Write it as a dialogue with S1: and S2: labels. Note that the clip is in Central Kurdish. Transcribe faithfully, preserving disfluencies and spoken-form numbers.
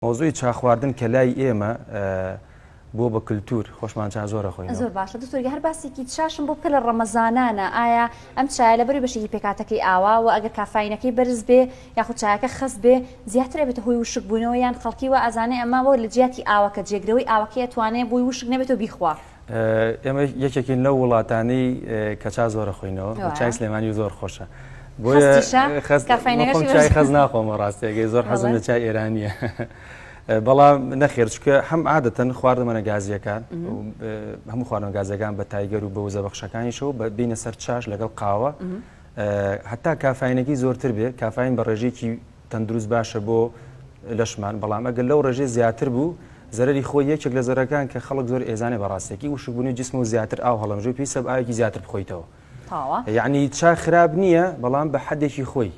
S1: مەوزوعی چا خواردن کە لای ئێمە بۆ بە کللتور خۆشمان چا زۆرە خۆی.
S2: زۆر باشە دکتۆر، هەر باسێکی چاشم بۆ بکە لە ڕەمەزانانە، ئایا ئەم چایە لەبەری بەشێکی پێکاتەکەی ئاوا و ئەگەر کافاینەکەی بەرز بێ یاخود چایەکە خەست بێ زیاتر ئەبێتە هۆی وشک بوونەوە، یان خەڵکی وا ئەزانێ ئەمە وە لە جیاتی ئاوەکە جێگرەوەی ئاوەکەی ئەتوانێ بۆی وشک نەبێتەوە بیخوا؟
S1: ئێمە یەکێکین لەو وڵاتانەی کە چا زۆرە خۆینەوە، چای سلێمانی زۆر خۆشە. چای خەز ناخۆمە ڕاستیەکەی، زۆر حەزم لە چای ئێرانیە. بەڵام نەخێر، چکە هەم عادەتەن خواردەمەنە گازیەکان، هەموو خواردنە گازیەکان بە تایگەر و بە وزە بەخشەکانیشەوە بینە سەر چاش لەگەڵ قاوە، هەتا کافاینەکەی زۆرتر بێ، کافاین بە ڕێژەیەکی تەندروست باشە بۆ لەشمان، بەڵام ئەگەر لەو ڕێژەی زیاتر بوو زەرری خۆی یەکێک لە زەرەکان کە خەڵک زۆر ئێزانێ بەڕاستێکی وشکبوونی جسم و زیاتر ئاو هەڵەمژێ، پێویستە ئاوێکی زیاتر بخۆیتەوە. یعنی چا خراپ نییە بەڵام بە حەدێکی خۆی.